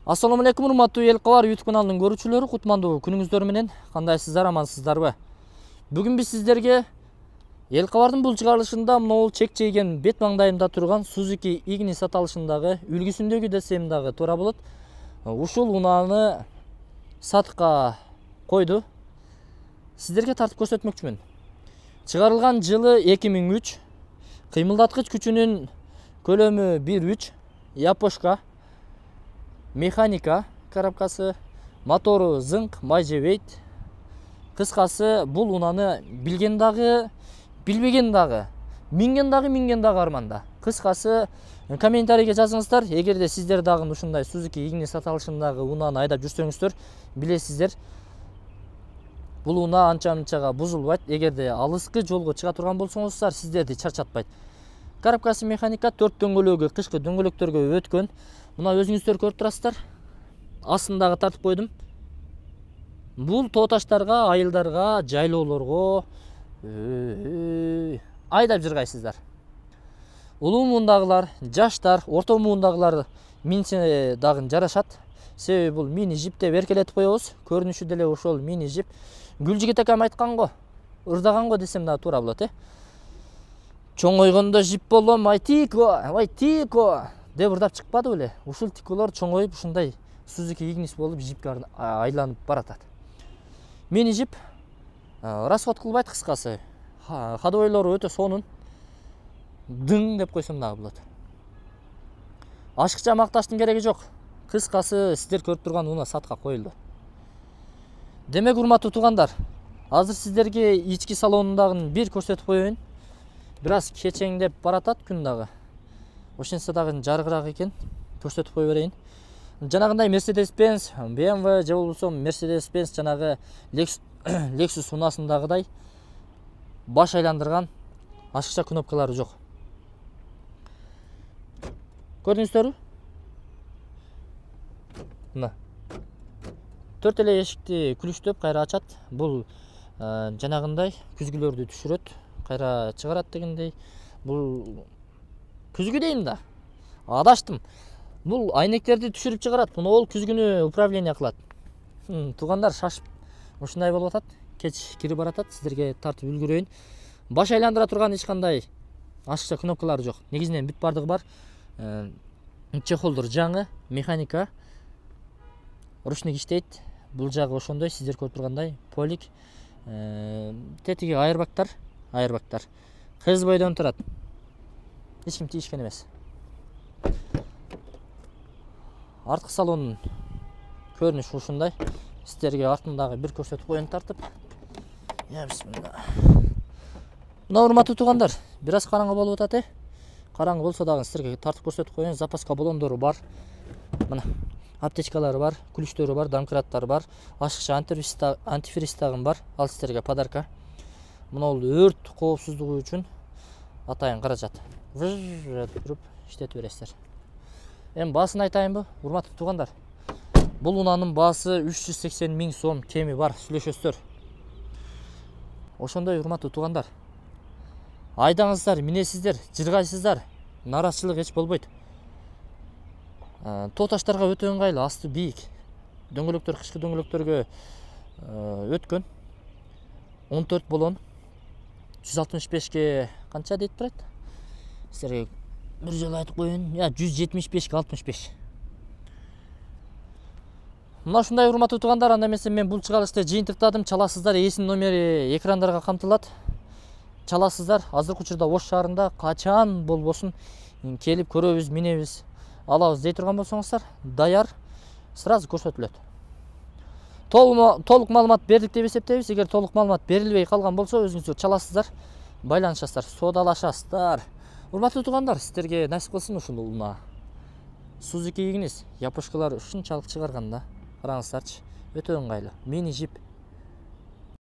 Ассаламу алейкум, урматтуу эл кабар YouTube каналынын көрүүчүлөрү, кутмандуу күнүңүздөр менен. Кандайсыздар, амансыздарбы? Бүгүн биз сиздерге эл кабардын бул чыгарылышында могул чек чейген бет маңдайында турган Suzuki Ignis аталышындагы үлгүсүндөгү десем дагы туура болот. Ушул унааны сатыкка койду. Сиздерге тартып көрсөтмөкчүмүн. Чыгарылган жылы 2003, кыймылдаткыч күчүнүн көлөмү 1.3, япошка, механика коробкасы, мотору зыңк, май жебейт. Кыскасы, бул унааны билген дагы, билбеген дагы, минген дагы арманда. Кыскасы, комментарийге жазыңыздар. Эгерде сиздер дагы ушундай Suzuki Ignis аталышындагы унааны айдап жүрсөңүздөр, билесиздер, бул унаа анча-мынчага бузулбайт. Эгерде алыскы жолго чыга турган болсоңуздар, сиздерди чарчатпайт. Коробкасы механика, 4 дөңгөлөгү кышкы дөңгөлөктөргө өткөн. Мына өзүңүздөр көрүп турасыздар. Астындагы тартып койдум. Бул тоо таштарга, айылдарга, жайлоолорго айдап жыргайсыздар. Улуу муундагылар, жаштар, орто муундагылар минсе дагы жарашат. Себеби бул мини жип деп эркелетип коебуз. Көрүнүшү деле ошол мини жип. Гүлжигит акам айткан го, ырдаган го десем дагы туура болот, Чоңойгондо жип болом, ай тико деп ырдап чыкпады беле? Ушул тиколор чоңоюп ушундай Suzuki Ignis болуп жипке айланып баратат. Мини жип расход кылбайт, кыскасы. Ходовойлору өтө сонун. Дың деп койсом дагы болот. Ашыкча макташтын кереги жок. Кыскасы, сиздер көрүп турган унаа сатка коюлду. Демек, урматтуу туугандар, азыр сиздерге ички салонундагы бир көрсөтүп коеюн. Бир аз кечеңдеп баратат күн дагы. Ошентсе дагы жарыгыраак экен. Көрсөтүп кое берейин. Жанагындай Mercedes-Benz, BMW же болбосо Mercedes-Benz жанагы Lexus унаасындагыдай баш айландырган ашыкча кнопкалары жок. Көрдүңүздөрбү? Мына. 4 эле эшикти күлүштөп кайра ачат. Бул жанагындай күзгүлөрдү түшүрөт, кайра чыгарат дегендей. Бул күзгү дейм да. Адаштым. Бул айнектерди түшүрүп чыгарат. Муну ол күзгүнү управление кылат. Туугандар, шашып ушундай болуп атат. Кеч кирип баратат. Сиздерге тартып үлгүрөйүн. Баш айландыра турган эч кандай ашыкча кнопкалары жок. Негизинен бүт бардыгы бар. Чехолдор жаңы, механика, ручник иштейт. Бул жагы ошондой, сиздер көрүп тургандай, полик. Тетиги айырбактар. Кыз бойдон турат. Эч ким тийишкен эмес. Арткы салонунун көрүнүшү ушундай. Сиздерге артындагы бир көрсөтүп коеюн тартып. Бисмилла. Мына, урматтуу туугандар, бир аз караңгы болуп атат, Караңгы болсо дагы сиздерге тартып көрсөтүп коеюн. Запаска баллондору бар. Мына, аптечкалары бар, күлүчтөрү бар, домкраттары бар, ашыкча антифриз дагы бар. Ал сиздерге подарка. Мына бул өрт коопсуздугу үчүн атайын каражат. Туруп иштетип бересиздер. Эми баасын айтайынбы, урматтуу туугандар? Бул унаанын баасы 380 000 сом, кеми бар, сүйлөшөсүздөр. Ошондой, урматтуу туугандар. Айдаңыздар, минесиздер, жыргайсыздар. Нараачылык эч болбойт. Тоо таштарга өтө ыңгайлуу, асты бийик. Дөңгөлөктөр кышкы дөңгөлөктөргө өткөн. 14 болон. 165ке канча дейт турат? Сиздерге бир жолу айтып коеюн. 175ке 65. Мына ушундай, урматтуу туугандар, анда эмесе мен бул чыгарылышты жыйынтыктадым. Чаласыздар, ээсинин номери экрандарга камтылат. Чаласыздар. Азыркы учурда Ош шаарында качан болбосун келип көрөбүз, минебиз, алабыз дей турган болсоңуздар, даяр, сразу көрсөтүлөт. Толук маалымат бердик деп эсептейбиз. Эгер толук маалымат берилбей калган болсо, өзүңүздөр чаласыздар, байланышасыздар, соодалашасыздар. Урматтуу туугандар, сиздерге насип кылсын ушул унаа. Suzuki Ignis япошкалар ушунчалык чыгарганда, караңыздарчы, өтө ыңгайлуу. Мини жип